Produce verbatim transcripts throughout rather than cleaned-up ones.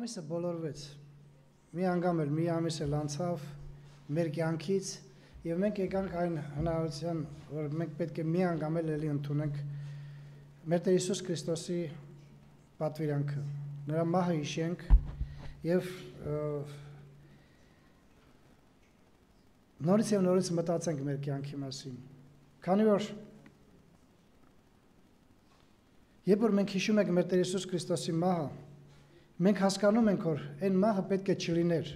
Ամիսը բոլորվեց, մի անգամ էլ մի ամիս էլ անցավ մեր կյանքից և մենք եկանք այն հնարավորության, որ մենք պետք է մի անգամ էլ էլի ընդունենք մեր Տեր Հիսուս Քրիստոսի պատվիրանքը, նրա մահը հիշենք և նորից և նորից մտածենք մեր կյանքի մասին, քանի որ երբ որ մենք հիշում ենք մեր Տեր Հիսուս Քրիստոսի մահը, մենք հասկանում ենք, որ այն մահը պետք է չլիներ,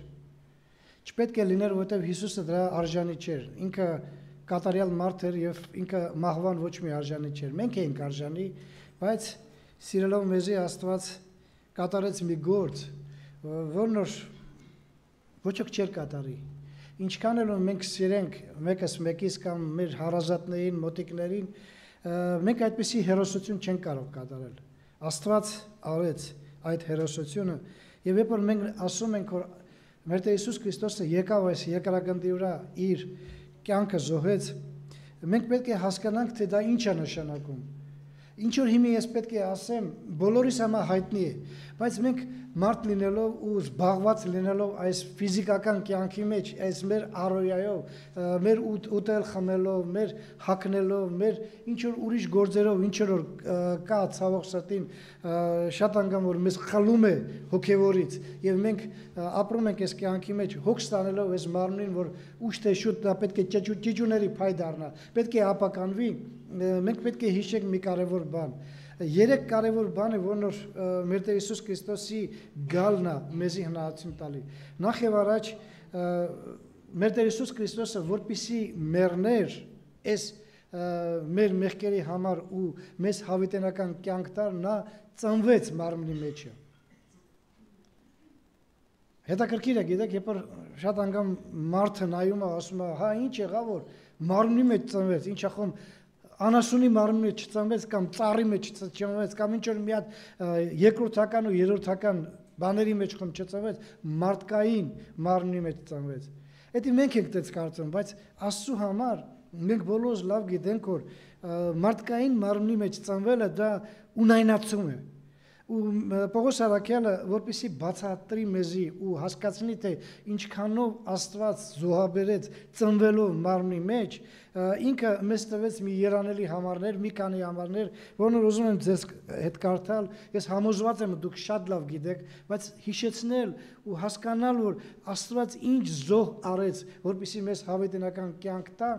չպետք է լիներ, որովհետև Հիսուսը դրա արժանի չէր, ինքը կատարյալ մարդ էր և ինքը մահվան ոչ մի արժանի չէր, մենք էինք արժանի, բայց սիրելով մեզի Աստված կատարեց մի գործ, որն որ ոչ ոք չէր կատարի, ինչքան էլ մենք սիրենք մեկս մեկից կամ մեր հարազատներին, մոտիկներին, մենք այդպիսի հերոսություն չենք կարող կատարել, Աստված արեց այդ հերոսությունը և երբ որ մենք ասում ենք, որ մեր Տեր Հիսուս Քրիստոսը եկավ այս երկրագնդի վրա իր կյանքը զոհեց, մենք պետք է հասկանանք, թե դա ինչ է նշանակում, ինչ որ հիմա ես պետք է ասեմ, բոլորիս համար հայտնի է, բայց մենք մարդ լինելով ու զբաղված լինելով այս ֆիզիկական կյանքի մեջ, այս մեր առօրյայով, մեր ուտել խմելով, մեր հագնելով, մեր ինչ որ ուրիշ գործերով, ինչ որ կա ցավոք սրտին, շատ անգամ որ մեզ խլում է հոգևորից եւ մենք ապրում ենք այս կյանքի մեջ, հոգ ստանելով այս մարմնին, որ ուշ թե շուտ դա պետք է ճիճուների փայ դառնա, պետք է ապականվի, մենք պետք է հիշենք մի կարևոր բան Երեք կարևոր բան է, որն որ մեր Տեր Հիսուս Քրիստոսի գալն է մեզի հնարավորություն տալի։ Նախ եւ առաջ մեր Տեր Հիսուս Քրիստոսը որպեսզի մեռներ այս մեր մեղքերի համար ու մեզ հավիտենական կյանք տար, նա ծնվեց մարմնի մեջը։ Հետաքրքիր է, գիտեք, երբ որ շատ անգամ մարդը նայում է, ասում է, հա ինչ եղավ որ մարմնի մեջ ծնվեց, ինչ ախում անասունի մարմնի մեջ չծնվեց կամ ծառի մեջ չծնվեց կամ ինչ որ մի հատ երկրորդական ու երրորդական բաների մեջ խոմ չծնվեց, մարդկային մարմնի մեջ ծնվեց։ Դա մենք ենք դες կարծում, բայց Աստծո համար մենք բոլորս լավ գիտենք, որ մարդկային մարմնի մեջ ծնվելը դա ունայնացում է։ Ու Պողոս Արաքյալը որպեսզի բացատրի մեզի ու հասկացնի թե ինչքանով Աստված զոհաբերեց ծնվելով մարմնի մեջ, ինքը մեզ տվեց մի երանելի համարներ, մի քանի համարներ, որոնք ուզում եմ ձեզ հետ կարդալ, ես համոզված եմ դուք շատ լավ գիտեք, բայց հիշեցնել ու հասկանալ, որ Աստված ինչ զոհ արեց, որպեսզի մեզ հավիտենական կյանք տա,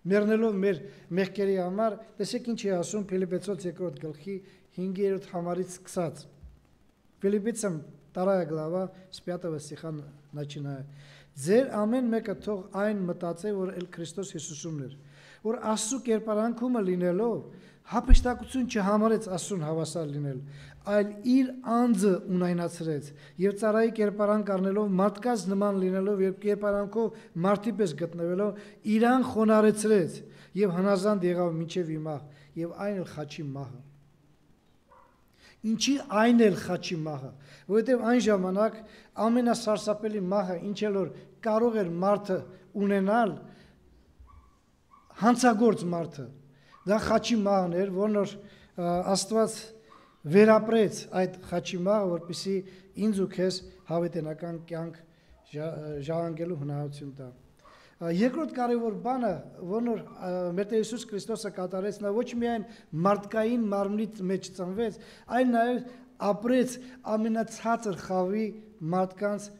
մեռնելով մեր մեղքերի համար, տեսեք ինչ է ասում Փիլիպպեցոց երկրորդ գլխի հինգերորդ համարից սկսած։ Ֆիլիպպийцам вторая глава с пятого стиха начиная. Ձեր ամեն մեկը թող այն մտածե, որ էլ Քրիստոս Հիսուսումն էր, որ Աստծո կերպարանքումը լինելով հափշտակություն չհամարեց Աստծուն հավասար լինել, այլ իր անձը ունայնացրեց եւ ծառայի կերպարանք առնելով մարդկաց նման լինելով եւ կերպարանքով մարդի պես գտնվելով իրան խոնարհեցրեց եւ հնազանդ եղավ մինչեւ հիմա եւ այն էլ խաչի մահը։ Ինչի այն էլ խաչի մահը, որովհետև այն ժամանակ ամենասարսափելի մահը, ինչ էլ որ կարող էր մարդը ունենալ, հանցագործ մարդը, դա խաչի մահն էր, որն որ Աստված վերապրեց այդ խաչի մահը, որպեսզի ինձ ու քեզ հավիտենական կյանք ժառանգելու հնարավորություն տա։ Երկրորդ կարևոր բանը, որն որ մեր Տեր Հիսուս Քրիստոսը կատարեց, նա ոչ միայն մարդկային մարմնի մեջ ծնվեց, այլ նաև ապրեց ամենացածր խավի մարդկանց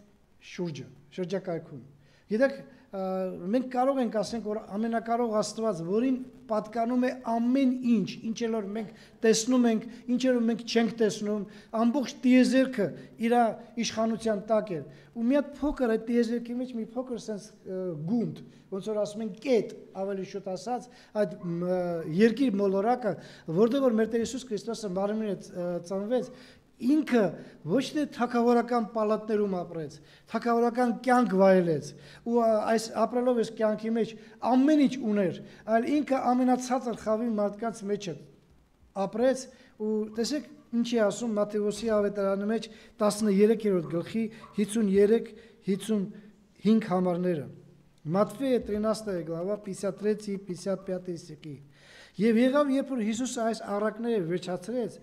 շուրջը, շրջակայքում։ Գիտեք, մենք կարող ենք ասենք, որ ամենակարող Աստված, որին պատկանում է ամեն ինչ, ինչ էլ որ մենք տեսնում ենք, ինչ էլ որ մենք չենք տեսնում, ամբողջ տիեզերքը իր իշխանության տակ է։ Ու մի հատ փոքր այդ տիեզերքի մեջ մի փոքր sense գունդ, ոնց որ ասում են կետ, ավելի շուտ ասած, այդ երկիր մոլորակը, որտեղ որ մեր Տեր Հիսուս Քրիստոսը մարմնի ծնվեց, ինքը ոչ թե թագավորական պալատներում ապրեց, թագավորական կյանք վայելեց ու այս ապրելով այս կյանքի մեջ ամեն ինչ ուներ, այլ ինքը ամենացածր խավի մարդկանց մեջ ապրեց ու տեսեք ինչ է ասում Մատթեոսի ավետարանի մեջ տասներկերորդ գլխի հիսուներեք հիսունհինգ համարները։ Матфея тринадцатая глава пятьдесят третий пятьдесят пятый стихи։ Եվ եղավ, երբ որ Հիսուսը այս առակները վերջացրեց,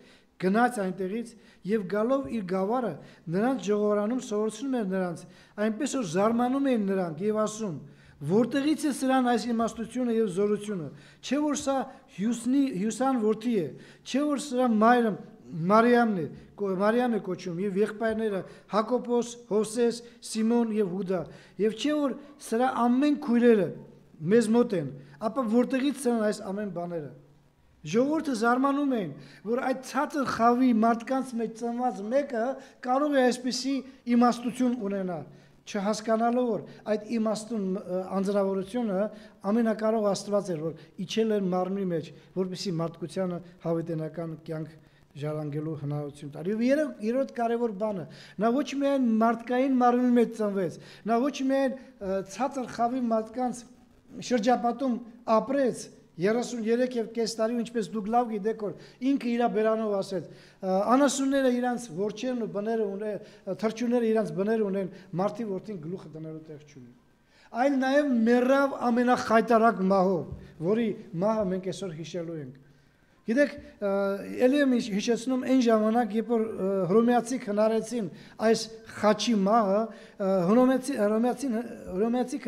գնաց այնտեղից եւ գալով իր գավառը նրանց ժողովրանում սովորեցնում էր նրանց, այնպես որ զարմանում էին նրանք եւ ասում. որտեղից է սրան այս իմաստությունը եւ զորությունը, չէ որ սա Հյուսնի Հյուսան որդի է, չէ որ սրա մայրը Մարիամն է, Մարիամն է կոչում եւ եղբայրները Հակոբոս, Հովսես, Սիմոն եւ Հուդա, եւ չէ որ սրա ամեն քույրերը մեզ մոտ են, ապա որտեղից սրան այս ամեն բաները։ Ժողովուրդը զարմանում էին, որ այդ ցածր խավի մարդկանց մեջ ծնված մեկը կարող է այսպիսի իմաստություն ունենալ, չհասկանալով որ այդ իմաստուն անձնավորությունը ամենակարող Աստված էր, որ իջել էր մարմնի մեջ, որպեսզի մարդկությանը հավիտենական կյանք ժառանգելու հնարավորություն տար։ Եվ երրորդ կարևոր բանը, նա ոչ միայն մարդկային մարմնի մեջ ծնվեց, նա ոչ միայն ցածր խավի մարդկանց շրջապատում ապրեց երեսուններեք եւ կես տարի, ինչպես դուք լավ գիտեք, որ ինքը իր բերանով ասեց, անասունները իրանց որջերն ու բները ունեն, թրջունները իրանց բները ունեն, մարդի որդին գլուխը դնելու տեղ չունի։ Այլ նաեւ մեռավ ամենախայտարակ մահով, որի մահը մենք այսօր հիշելու ենք։ Գիտեք, ելի եմ հիշեցնում այն ժամանակ, երբ որ հռոմեացի հնարեցին այս խաչի մահը, հռոմեացի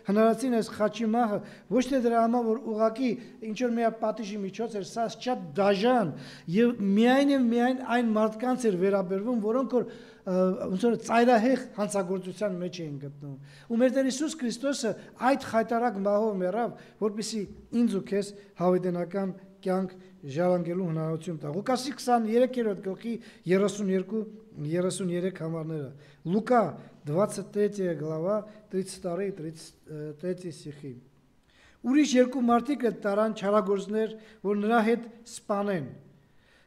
հնարեցին այս խաչի մահը, ոչ թե դրա համար, որ ուղղակի ինչ-որ մի պատիժի միջոց էր, սա շատ դաժան եւ միայն եւ միայն այն մարդկանց էր վերաբերվում, որոնք որ ոնց որ ծայրահեղ հանցագործության մեջ էին գտնում։ Ու մեր Տեր Հիսուս Քրիստոսը այդ խայտարակ մահով մեռավ, որպեսզի ինձ ու քեզ հավիտենական կյանք ժառանգելու հնարավորություն տա։ Ղուկասի քսաներեք գլխի երեսունյոթ երեսունյոթ համարները։ Լուկա двадцать третья глава тридцать два тридцать три стихи։ Ուրիշ երկու մարդիկ տարան չարագործներ, որ նրա հետ սպանեն։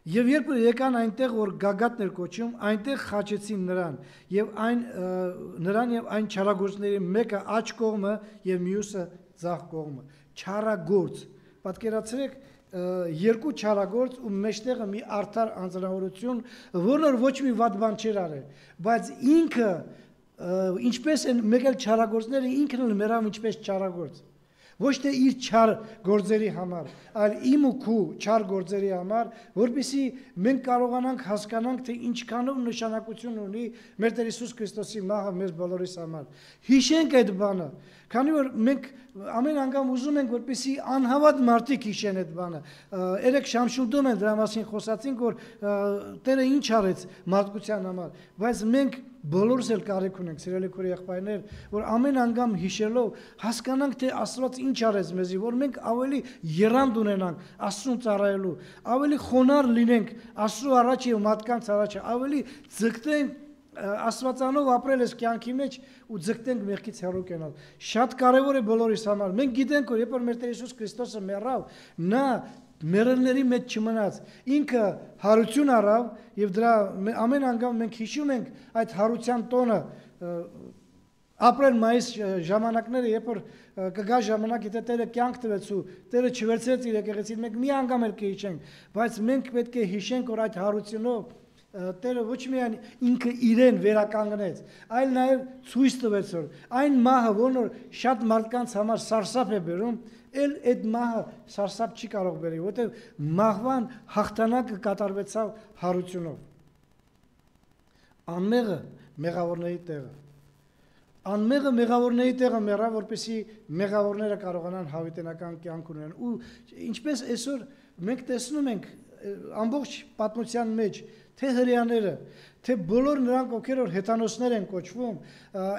Եվ երբ եկան այնտեղ, որ գագաթներ կոչում, այնտեղ խաչեցին նրան, եւ այն նրան եւ այն չարագործների մեկը աջ կողմը եւ մյուսը ձախ կողմը։ Չարագործ։ Պատկերացրեք երկու չարագործ ու մեջտեղը մի արդար անձնավորություն, որն ոչ մի վատ բան չէր արել, բայց ինքը ինչպես են մեկ էլ չարագործները ինքն էլ մեռավ ինչպես չարագործ։ Ոչ թե իր չար գործերի համար, այլ իմ ու քու չար գործերի համար, որպեսզի մենք կարողանանք հասկանանք, թե ինչքանով նշանակություն ունի մեր Տեր Հիսուս Քրիստոսի մահը մեր բոլորիս համար։ Հիշենք այդ բանը, քանի որ մենք ամեն անգամ ուզում ենք, որպեսզի անհավատ մարդիկ հիշեն այդ բանը։ Երեք Շամշուլդում են դրա մասին խոսացինք, որ Տերը ինչ արեց մարդկության համար, բայց մենք բոլորս էլ կարիք ունենք, սիրելի քույր եղբայրներ, որ ամեն անգամ հիշելով հասկանանք, թե Աստված ինչ արեց մեզի, որ մենք ավելի եռանդ ունենանք Աստծուն ծառայելու, ավելի խոնարհ լինենք Աստծու առաջ եւ մարդկանց առաջ, ավելի ձգտենք Աստվածանով ապրել ես կյանքի մեջ ու ձգտենք մեղքից հեռու կենալ։ Շատ կարևոր է բոլորիս համար։ Մենք գիտենք, որ երբ որ մեր Տեր Հիսուս Քրիստոսը մեռավ, նա մեռելների մեջ չմնաց, ինքը հարություն առավ եւ դրա ամեն անգամ մենք հիշում ենք այդ հարության տոնը ապրել մայիս ժամանակները, երբ որ կգա ժամանակ, եթե Տերը կյանք տվեց ու Տերը չվերցրեց իր եկեղեցին, մենք մի անգամ էլ կհիշենք, բայց մենք պետք է հիշենք, որ այդ հարությունով Տերը ոչ միայն ինքը իրեն վերականգնեց, այլ նաև ցույց տվեց, որ այն մահը, որն որ շատ մարդկանց համար սարսափ է բերում, էլ այդ մահը սարսափ չի կարող բերել, որտեղ մահվան հաղթանակը կատարվեցավ հարությունով։ Անմեղը մեղավորների տեղը։ Անմեղը մեղավորների տեղը մեռավ, որպեսզի մեղավորները կարողանան հավիտենական կյանք ունենալ։ Ու ինչպես այսօր մենք տեսնում ենք ամբողջ պատմության մեջ, թե հրեաները, թե բոլոր նրանք, ովքեր որ հեթանոսներ են կոչվում,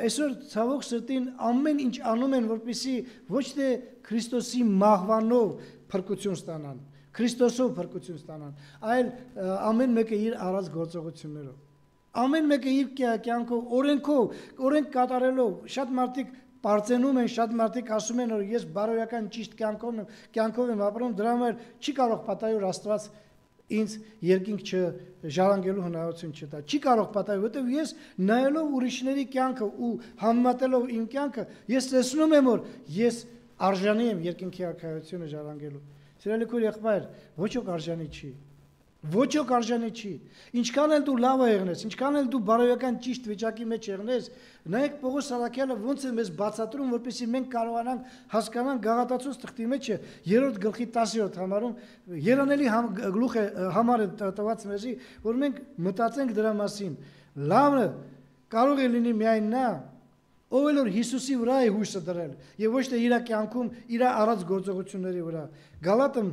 այսօր ցավոք սրտին ամեն ինչ անում են, որպեսզի ոչ թե Քրիստոսի մահվանով փրկություն ստանան, Քրիստոսով փրկություն ստանան, այլ ամեն մեկը իր առած գործողություններով, ամեն մեկը իր կյանքով, օրենքով, օրենք կատարելով, շատ մարդիկ Պարծենում են, շատ մարդիկ ասում են, որ ես բարոյական ճիշտ կյանքով եմ, կյանքով եմ ապրում, դրա համար չի կարող պատահել, որ Աստված ինձ երկինք չժառանգելու հնարավորություն չտա։ Չի կարող պատահել, որովհետև ես նայելով ուրիշների կյանքը ու համեմատելով իմ կյանքը, ես տեսնում եմ, որ ես արժանի եմ երկինքի արքայությունը ժառանգելու։ Սիրելի քույր եղբայր, ոչ ոք արժանի չի։ Ոչ ոք արժանի չի։ Ինչքան էլ դու լավ եղնես, ինչքան էլ դու բարոյական ճիշտ վիճակի մեջ եղնես, նայեք Պողոս Սարաքյալը ոնց է մեզ բացատրում, որպեսզի մենք կարողանանք հասկանանք Գաղատացոց թղթի մեջ երրորդ գլխի տասերորդ համարում երանելի գլուխ է համար է տված մեզի, որ մենք մտածենք դրա մասին։ Լավը կարող է լինի միայն նա, ով էլ որ Հիսուսի վրա է հույսը դրել, եւ ոչ թե իր կյանքում իր առած գործողությունների վրա։ Գալատам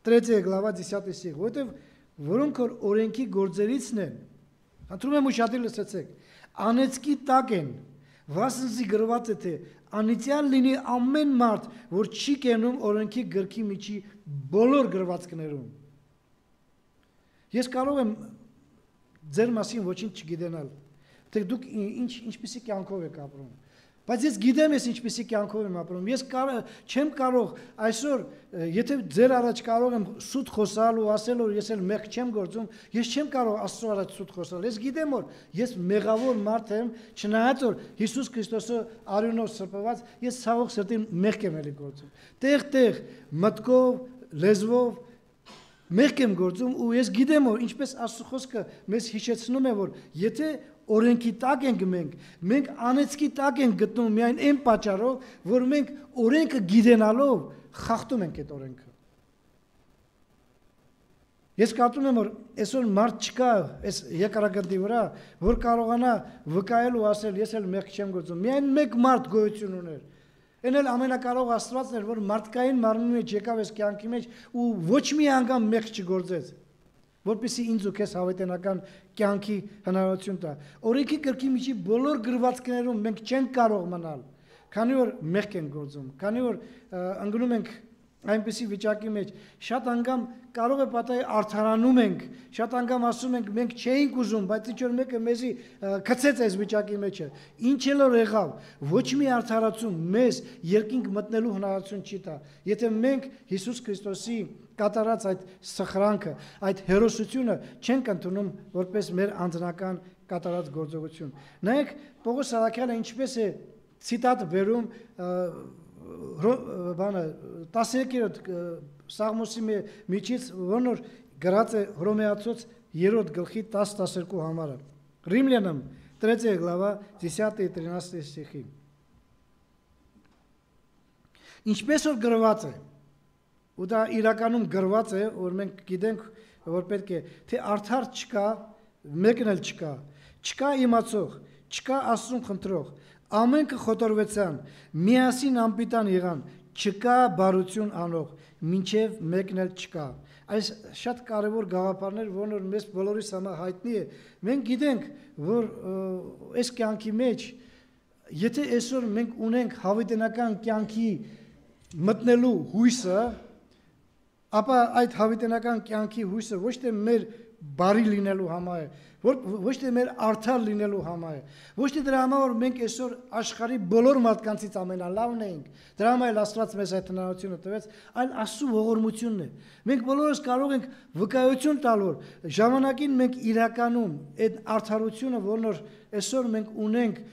третья глава десятый стих, որտեվ որոնք որ օրենքի գործերիցն են, խնդրում եմ ուշադիր լսեցեք, անեծքի տակ են, վասնզի գրված է թե անիծյալ լինի ամեն մարդ, որ չի կենում օրենքի գրքի միջի բոլոր գրվածքներում։ Ես կարող եմ ձեր մասին ոչինչ չգիտենալ, թե դուք ինչ ինչպիսի կյանքով եք ապրում, բայց ես գիտեմ ես ինչպիսի կյանքով եմ ապրում։ Ես չեմ կարող այսօր, եթե ձեր առաջ կարող եմ սուտ խոսալ ու ասել որ ես էլ մեղք չեմ գործում, ես չեմ կարող Աստծո առաջ սուտ խոսալ։ Ես գիտեմ որ ես մեղավոր մարդ եմ, չնայած որ Հիսուս Քրիստոսը արյունով սրբված, ես ցավոք սրտին մեղք եմ էլի գործում։ Տեղ-տեղ մտքով, լեզվով մեղք եմ գործում ու ես գիտեմ որ ինչպես Աստծո խոսքը մեզ հիշեցնում է որ եթե օրենքի տակ ենք մենք, մենք անեծքի տակ ենք գտնում միայն այն պատճառով, որ մենք օրենքը գիտենալով խախտում ենք այդ օրենքը։ Ես կարծում եմ որ այսօր մարդ չկա այս երկարագնդի վրա, որ կարողանա վկայել ու ասել ես էլ մեղք չեմ գործում։ Միայն մեկ մարդ գոյություն ուներ։ Այն էլ ամենակարող Աստվածն էր, որ մարդկային մարմնի մեջ եկավ այս կյանքի մեջ ու ոչ մի անգամ մեղք չգործեց, որպեսզի ինձ ու քեզ հավիտենական կյանքի հնարավորություն տա։ Օրենքի գրքի միջի բոլոր գրվածքներում մենք չենք կարող մնալ, քանի որ մեղք ենք գործում, քանի որ ընկնում ենք այնպիսի վիճակի մեջ, շատ անգամ կարող է պատահի արդարանում ենք, շատ անգամ ասում ենք մենք չէինք ուզում, բայց ինչ որ մեկը մեզի գցեց այս վիճակի մեջը։ Ինչ էլ որ եղավ, ոչ մի արդարացում մեզ երկինք մտնելու հնարավորություն չի տա։ Եթե մենք Հիսուս Քրիստոսի կատարած այդ սխրանքը, այդ հերոսությունը չենք ընդունում որպես մեր անձնական կատարած գործողություն։ Նայեք Պողոս Սարաքյալը ինչպես է ցիտատ վերում բանը տասներորդ Սաղմոսի միջից որնոր գրած է Հռոմեացոց երրորդ գլխի տասը տասներկու համարը։ Римлянам третья глава десятый и тринадцатый стихи։ Ինչպես որ գրված է, ու դա իրականում գրված է, որ մենք գիտենք, որ պետք է, թե արդար չկա, մեկն էլ չկա, չկա իմացող, չկա Աստծուն խնդրող, ամենքը խոտորվեցան, միասին անպիտան եղան, չկա բարություն անող, մինչև մեկն էլ չկա։ Այս շատ կարևոր գաղափարներ, որոնք մեզ բոլորիս համար հայտնի է։ Մենք գիտենք, որ այս կյանքի մեջ, եթե այսօր մենք ունենք հավիտենական կյանքի մտնելու հույսը, ապա այդ հավիտենական կյանքի հույսը ոչ թե մեր բարի լինելու համար է, ոչ թե մեր արդար լինելու համար է, ոչ թե դրա համար որ մենք այսօր աշխարհի բոլոր մարդկանցից ամենալավն ենք, դրա համար էլ Աստված մեզ այդ հնարավորությունը տվեց, այլ Աստծո ողորմությունն է։ Մենք բոլորս կարող ենք վկայություն տալ, որ ժամանակին մենք իրականում այդ արդարությունը, որն որ այսօր մենք ունենք,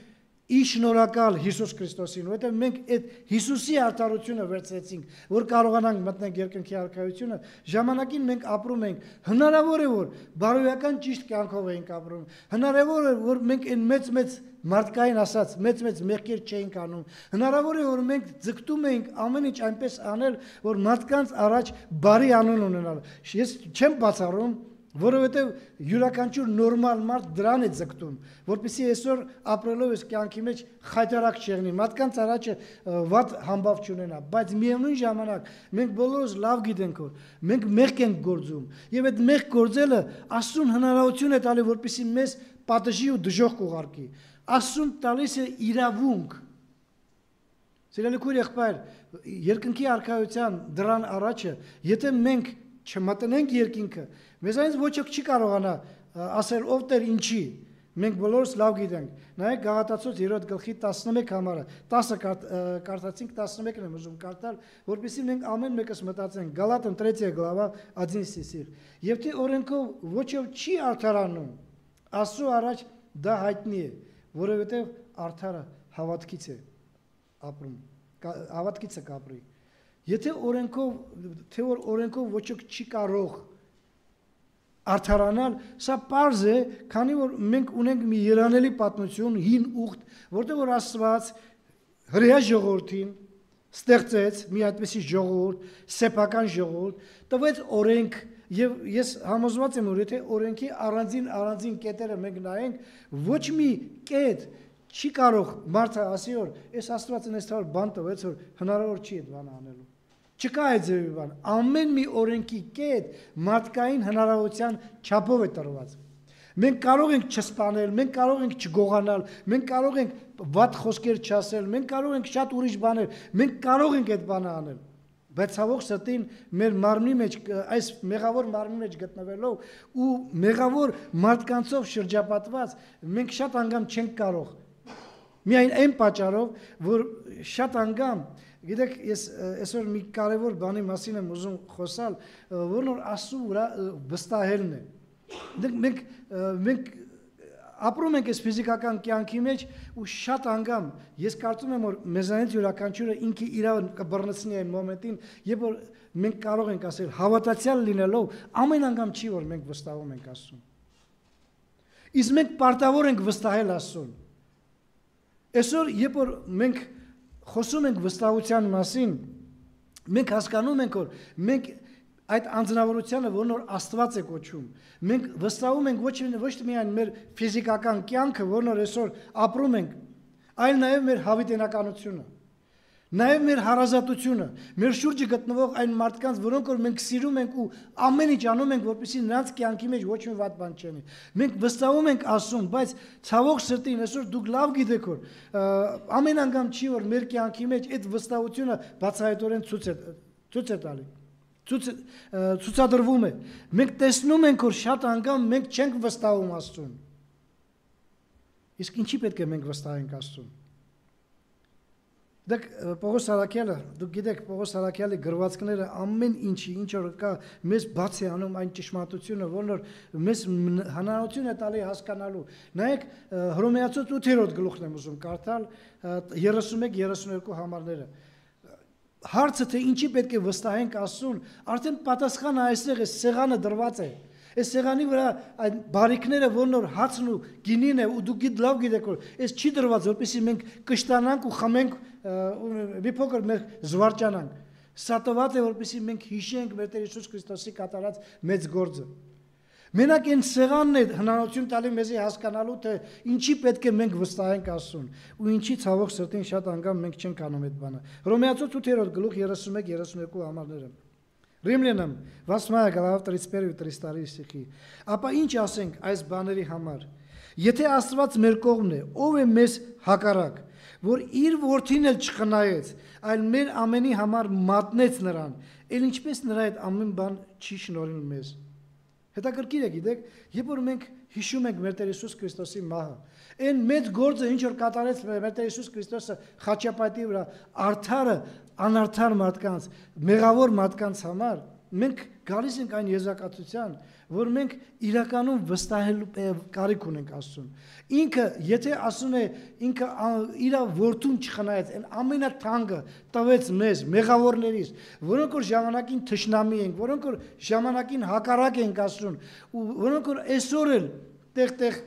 ի շնորհակալ Հիսուս Քրիստոսին, որովհետև մենք այդ Հիսուսի արդարությունը վերցրեցինք, որ կարողանանք մտնել երկնքի արքայությունը, ժամանակին մենք ապրում ենք, հնարավոր է որ բարոյական ճիշտ կյանքով ենք ապրում, հնարավոր է որ մենք այն մեծ-մեծ մարդկային ասած մեծ-մեծ մեղքեր չէինք անում, հնարավոր է որ մենք ձգտում էինք ամեն ինչ այնպես անել, որ մարդկանց առաջ բարի անուն ունենալ։ Ես չեմ բացառում, որովհետև յուրաքանչյուր նորմալ մարդ դրան է ձգտում, որպեսզի այսօր ապրելով այս կյանքի մեջ խայտարակ չեղնի, մարդկանց առաջը վատ համբավ չունենա, բայց միևնույն ժամանակ մենք բոլորս լավ գիտենք, որ մենք մեղք ենք գործում, եւ այդ մեղք գործելը Աստծուն հնարավորություն է տալի, որպեսզի մեզ պատժի ու դժոխք ուղարկի։ Աստծուն տալիս է իրավունք։ Սիրելի քույր եղբայր, երկնքի արքայության դրան առաջը, եթե մենք չմտնենք երկինքը, մեզանից ոչ ոք չի կարողանա ասել ով Տեր ինչի, մենք բոլորս լավ գիտենք։ Նայեք Գաղատացոց երրորդ գլխի տասնմեկ համարը, տասը կարդացինք, տասնմեկն եմ ուզում կարդալ, որպեսզի մենք ամեն մեկս մտածենք։ Գալատам третья глава одиннадцатый стих։ Եվ թե օրենքով ոչ ոք չի արդարանում, Աստծո առաջ դա հայտնի է, որովհետև արդարը հավատքից է ապրում, հավատքից է կապրի։ Եթե օրենքով, թե որ օրենքով ոչ ոք չի կարող արդարանալ, սա պարզ է, քանի որ մենք ունենք մի երանելի պատմություն, հին ուխտ, որտեղ որ Աստված հրեա ժողովրդին ստեղծեց մի այդպիսի ժողովուրդ, սեփական ժողովուրդ, տվեց օրենք, եւ ես համոզված եմ, որ եթե օրենքի առանձին առանձին կետերը մենք նայենք, ոչ մի կետ չի կարող մարդը ասի, որ այս Աստվածն այս թվար բան տվեց, որ հնարավոր չի այդ բանը անելու։ Չկա այդ ձևի բան, ամեն մի օրենքի կետ մարդկային հնարավորության չափով է տրված։ Մենք կարող ենք չսպանել, մենք կարող ենք չգողանալ, մենք կարող ենք վատ խոսքեր չասել, մենք կարող ենք շատ ուրիշ բաներ, մենք կարող ենք այդ բանը անել։ Բայց ցավոք սրտին մեր մարմնի մեջ, այս մեղավոր մարմնի մեջ գտնվելով ու մեղավոր մարդկանցով շրջապատված, մենք շատ անգամ չենք կարող։ Միայն այն պատճառով, որ շատ անգամ, գիտեք, ես այսօր մի կարևոր բանի մասին եմ ուզում խոսալ, որն որ Աստծո վրա վստահելն է։ Մենք մենք ապրում ենք այս ֆիզիկական կյանքի մեջ ու շատ անգամ ես կարծում եմ, որ մեզանից յուրաքանչյուրը ինքը իր կբռնցնի այն մոմենտին, երբ որ մենք կարող ենք ասել հավատացյալ լինելով, ամեն անգամ չի, որ մենք վստահում ենք Աստծուն։ Իսկ մենք պարտավոր ենք վստահել Աստծուն։ Այսօր, երբ որ մենք խոսում ենք վստահության մասին, մենք հասկանում ենք, որ մենք այդ անձնավորությունը, որն որ Աստված է կոչում, մենք վստահում ենք ոչ ոչ միայն մեր ֆիզիկական կյանքը, որն որ այսօր ապրում ենք, այլ նաև մեր հավիտենականությունը, նաև մեր հարազատությունը, մեր շուրջը գտնվող այն մարդկանց, որոնք որ մենք սիրում ենք ու ամեն ինչ անում ենք, որպեսզի նրանց կյանքի մեջ ոչ մի վատ բան չլինի։ Մենք վստահում ենք Աստծուն, բայց ցավոք սրտին այսօր դուք լավ գիտեք, որ ամեն անգամ չի, որ մեր կյանքի մեջ այդ վստահությունը բացահայտորեն ցույց է ցույց է տալի։ Ցուցադրվում է։ Մենք տեսնում ենք, որ շատ անգամ մենք չենք վստահում Աստծուն։ Իսկ ինչի պետք է մենք վստահենք Աստծուն։ Դեք Պողոս Արաքյալը, դուք գիտեք, Պողոս Արաքյալի գրվածքները ամեն ինչի, ինչ որ կա, մեզ բաց է անում այն ճշմարտությունը, որն որ մեզ հնարավորություն է տալի հասկանալու։ Նայեք, Հռոմեացու ութերորդ գլուխն եմ ուզում կարդալ, երեսունմեկ երեսուներկու համարները։ Հարցը թե ինչի պետք է վստահենք Աստծուն, արդեն պատասխանը այստեղ է, սեղանը դրված է։ Այս սեղանի վրա այդ բարիքները, որն որ հացն ու գինին է, ու դուք գիտ լավ գիտեք, որ այս չի դրված, որպեսզի մենք կշտանանք ու խմենք մի փոքր մեր զվարճանանք։ Սա տված է, որպեսզի մենք հիշենք մեր Տեր Հիսուս Քրիստոսի կատարած մեծ գործը։ Մենակ այն սեղանն է հնարավորություն տալի մեզի հասկանալու, թե ինչի պետք է մենք վստահենք Աստծուն, ու ինչի ցավոք սրտին շատ անգամ մենք չենք անում այդ բանը։ Հռոմեացու ութերորդ գլուխ երեսունմեկ երեսուներկու համարները։ Римлянам восьмая глава тридцать первый тридцать второй стихи։ Ապա ինչ ասենք այս բաների համար։ Եթե Աստված մեր կողմն է, ով է մեզ հակառակ, որ իր որդին էլ չխնայեց, այլ մեր ամենի համար մատնեց նրան, ել ինչպես նրա այդ ամեն բան չի շնորհել մեզ։ Հետաքրքիր է, գիտեք, երբ որ մենք հիշում ենք մեր Տեր Հիսուս Քրիստոսի մահը, այն մեծ գործը, ինչ որ կատարեց մեր Տեր Հիսուս Քրիստոսը խաչապատի վրա, արդարը, անարդար մարդկանց, մեղավոր մարդկանց համար, մենք գալիս ենք այն եզրակացության, որ մենք իրականում վստահելու կարիք ունենք Աստծուն։ Ինքը, եթե ասում է, ինքը իր որդուն չխնայեց, այն ամենաթանկը տվեց մեզ, մեղավորներից, որոնք որ ժամանակին թշնամի ենք, որոնք որ ժամանակին հակառակ ենք Աստծուն, ու որոնք որ այսօր էլ տեղ-տեղ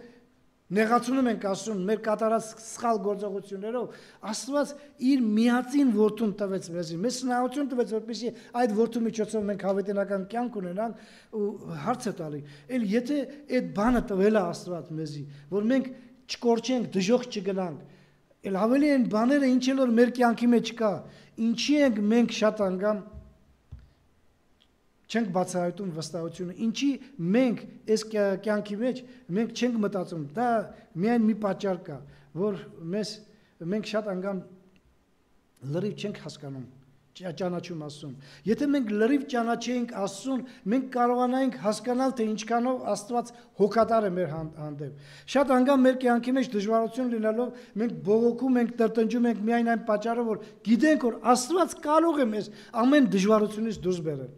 նեղացնում ենք Աստծուն մեր կատարած սխալ գործողություններով, Աստված իր միածին որդուն տվեց մեզի, մեզ հնարավորություն տվեց, որպեսզի այդ որդու միջոցով մենք հավիտենական կյանք ունենանք, ու հարց է տալի, էլ եթե այդ բանը տվել է Աստված մեզի, որ մենք չկորչենք, դժոխք չգնանք, էլ ավելի այն բաները, ինչ էլ որ մեր կյանքի մեջ կա, ինչի ենք մենք շատ անգամ չենք բացահայտում վստահությունը, ինչի մենք այս կյանքի մեջ մենք չենք մտածում, դա միայն մի պատճառ կա, որ մեզ մենք շատ անգամ լրիվ չենք հասկանում, ճանաչում Աստծուն։ Եթե մենք լրիվ ճանաչեինք Աստծուն, մենք կարողանայինք հասկանալ, թե ինչքանով Աստված հոգատար է մեր հանդեպ։ Շատ անգամ մեր կյանքի մեջ դժվարություն լինելով մենք բողոքում ենք, տրտնջում ենք միայն այն պատճառով, որ գիտենք, որ Աստված կարող է մեզ ամեն դժվարությունից դուրս բերել։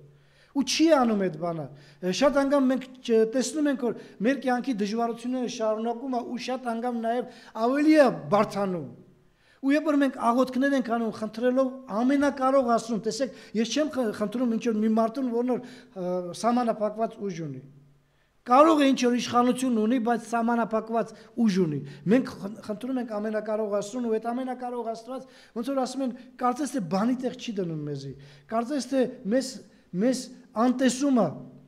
Ու չի անում այդ բանը։ Շատ անգամ մենք տեսնում ենք, որ մեր կյանքի դժվարությունները շարունակում է ու շատ անգամ նաև ավելի է բարդանում։ Ու երբ որ մենք աղոթքներ ենք անում, խնդրելով ամենակարող Աստծուն, տեսեք, ես չեմ խնդրում ինչ որ մի մարդուն, որն որ սահմանափակված ուժ ունի։ Կարող է ինչ որ իշխանություն ունի, բայց սահմանափակված ուժ ունի։ Մենք խնդրում ենք ամենակարող Աստծուն ու այդ ամենակարող Աստված ոնց որ ասում են, կարծես թե բանի տեղ չի դնում մեզի։ Կարծես թե մեզ մեզ անտեսումը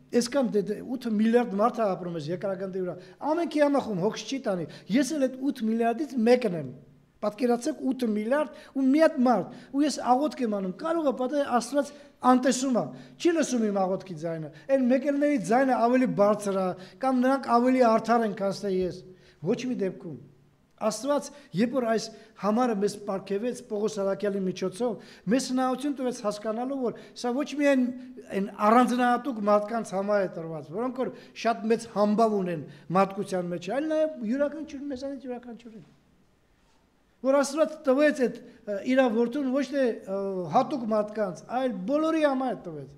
Այսքան ութ միլիարդ մարդ է ապրում ես երկրագնդի վրա։ Ամենքի համախում հոգս չի տանի։ Ես էլ այդ ութ միլիարդից մեկն եմ։ Պատկերացեք ութ միլիարդ ու մի հատ մարդ։ Ու ես աղոթք եմ անում։ Կարող է պատահել Աստված անտեսում է։ Չի լսում իմ աղոթքի ձայնը։ Այն մեկելների ձայնը ավելի բարձր է, կամ նրանք ավելի արդար են, քան թե ես։ Ոչ մի դեպքում։ Աստված, երբ որ այս համարը մեզ պարգևեց Պողոս Արաքյալի միջոցով, մեզ հնարավորություն տվեց հասկանալու, որ սա ոչ միայն այն առանձնահատուկ մարդկանց համար է տրված, որոնք որ շատ մեծ համբավ ունեն մարդկության մեջ, այլ նաև յուրաքանչյուր մեզանից յուրաքանչյուրին։ Որ Աստված տվեց այդ իր որդուն ոչ թե հատուկ մարդկանց, այլ բոլորի համար տվեց։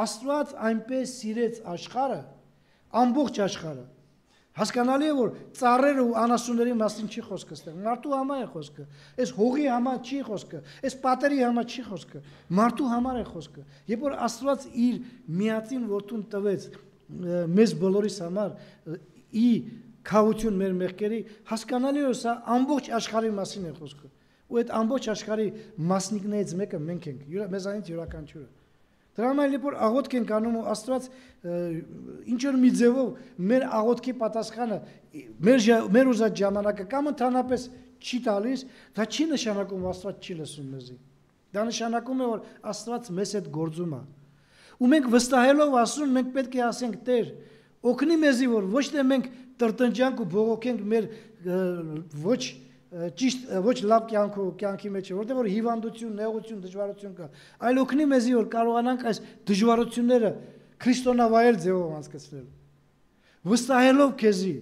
Աստված այնպես սիրեց աշխարհը, ամբողջ աշխարհը։ Հասկանալի է, որ ծառերը ու անասունների մասին չի խոսքը ստեղ, մարդու համար է խոսքը, այս հողի համար չի խոսքը, այս պատերի համար չի խոսքը, մարդու համար է խոսքը։ Երբ որ Աստված իր միածին որդուն տվեց մեզ բոլորիս համար, ի քավություն մեր մեղքերի, հասկանալի է, որ սա ամբողջ աշխարհի մասին է խոսքը։ Ու այդ ամբողջ աշխարհի մասնիկներից մեկը մենք ենք, մեզանից յուրաքանչյուրը։ Դրա համար երբ որ աղոթք ենք անում ու Աստված ինչ որ մի ձևով մեր աղոթքի պատասխանը մեր մեր ուզած ժամանակը կամ ընդհանրապես չի տալիս, դա չի նշանակում Աստված չի լսում մեզի։ Դա նշանակում է, որ Աստված մեզ հետ գործում է։ Ու մենք վստահելով ասում, մենք պետք է ասենք Տեր, օգնի մեզի, որ ոչ թե մենք տրտնջանք ու բողոքենք մեր ոչ ճիշտ ոչ լավ կյանք ու կյանքի մեջ, որտեղ որ հիվանդություն, նեղություն, դժվարություն կա, այլ օգնի մեզի, որ կարողանանք այս դժվարությունները քրիստոնավայել ձևով անցկացնել։ Վստահելով քեզի,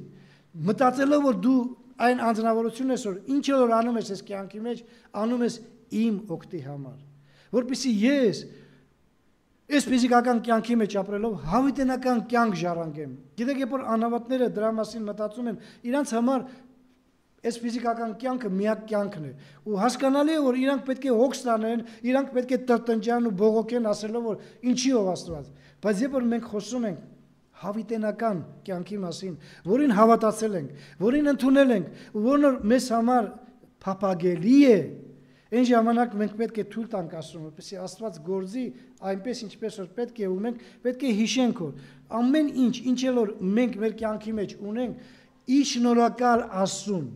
մտածելով, որ դու այն անձնավորությունն ես, որ ինչ որ անում ես այս կյանքի մեջ, անում ես իմ օգտի համար, որպեսզի ես այս ֆիզիկական կյանքի մեջ ապրելով հավիտենական կյանք ժառանգեմ։ Գիտեք, երբ որ անհավատները դրա մասին մտածում են, իրանց համար այս ֆիզիկական կյանքը միակ կյանքն է ու հասկանալի է, որ իրանք պետք է հոգս տանեն, իրանք պետք է տրտնջան ու բողոքեն, ասելով, որ ինչի ով Աստված։ Բայց երբ որ մենք խոսում ենք հավիտենական կյանքի մասին, որին հավատացել ենք, որին ընդունել ենք, ու որն մեզ համար փափագելի է, այն ժամանակ մենք պետք է թույլ տանք Աստծուն, որպեսզի Աստված գործի այնպես, ինչպես որ պետք է, ու մենք պետք է հիշենք, որ ամեն ինչ, ինչ էլ որ մենք մեր կյանքի մեջ ունենք, ի շնորհակալ Աստծուն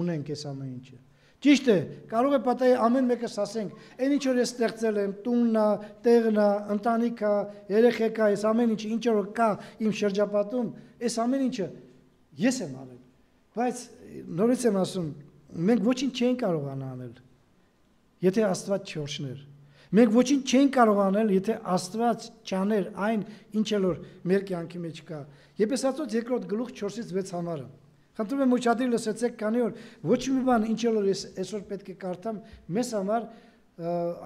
ունենք այս ամեն ինչը։ Ճիշտ է, կարող է պատահել ամեն մեկս ասենք, այն ինչ որ ես ստեղծել եմ, տունն է, տեղն է, ընտանիքը, երեխեքա, այս ամեն ինչը ինչ որ կա իմ շրջապատում, այս ամեն ինչը ես եմ արել։ Բայց նորից եմ ասում, մենք ոչինչ չենք կարողանա անել, եթե Աստված չորշներ։ Մենք ոչինչ չենք կարող անել, եթե Աստված չաներ այն, ինչ որ մեր կյանքի մեջ կա։ Եփեսացոց երկրորդ գլուխ չորսից վեց համարը։ Խնդրում եմ ուշադիր լսեցեք, քանի որ ոչ մի բան ինչ որ ես այսօր պետք է կարդամ, մեզ համար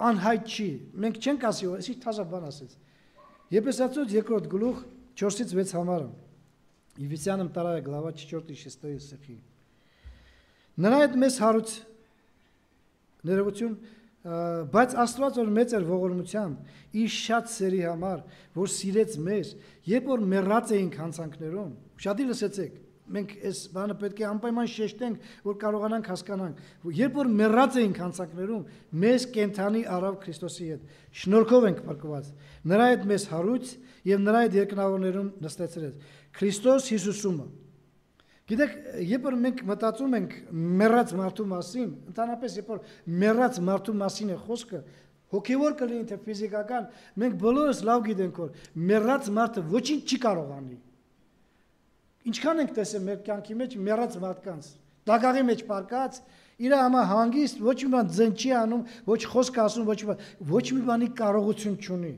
անհայտ չի։ Մենք չենք ասի, այսի թազա բան ասեց։ Եփեսացոց երկրորդ գլուխ չորսից վեց համարը։ Եփեսյանам вторая глава четвёртый шестой стихи։ Նրա այդ մեզ հարուց ներողություն, բայց Աստված որ մեծ էր ողորմությամբ, իր շատ սերի համար, որ սիրեց մեզ, երբ որ մեռած էինք հանցանքներում, ուշադիր լսեցեք, մենք այս բանը պետք է անպայման շեշտենք, որ կարողանանք հասկանանք, երբ որ մեռած էինք հանցանքներում, մեզ կենթանի արավ Քրիստոսի հետ, շնորհքով ենք փրկված, նրա հետ մեզ հարույց եւ նրա հետ երկնավորներում նստեցրեց, Քրիստոս Հիսուսումը։ Գիտեք, երբ որ մենք մտածում ենք մեռած մարդու մասին, ընդհանրապես երբ որ մեռած մարդու մասին է խոսքը, հոգևոր կլինի թե ֆիզիկական, մենք բոլորս լավ գիտենք, որ մեռած մարդը ոչինչ չի կարող անի։ Ինչքան ենք տեսել մեր կյանքի մեջ մեռած մարդկանց, դագաղի մեջ պարկած, իր համար հանգիստ, ոչ մի բան ձեն չի անում, ոչ խոսք ասում, ոչ մի բան, ոչ մի բանի կարողություն չունի։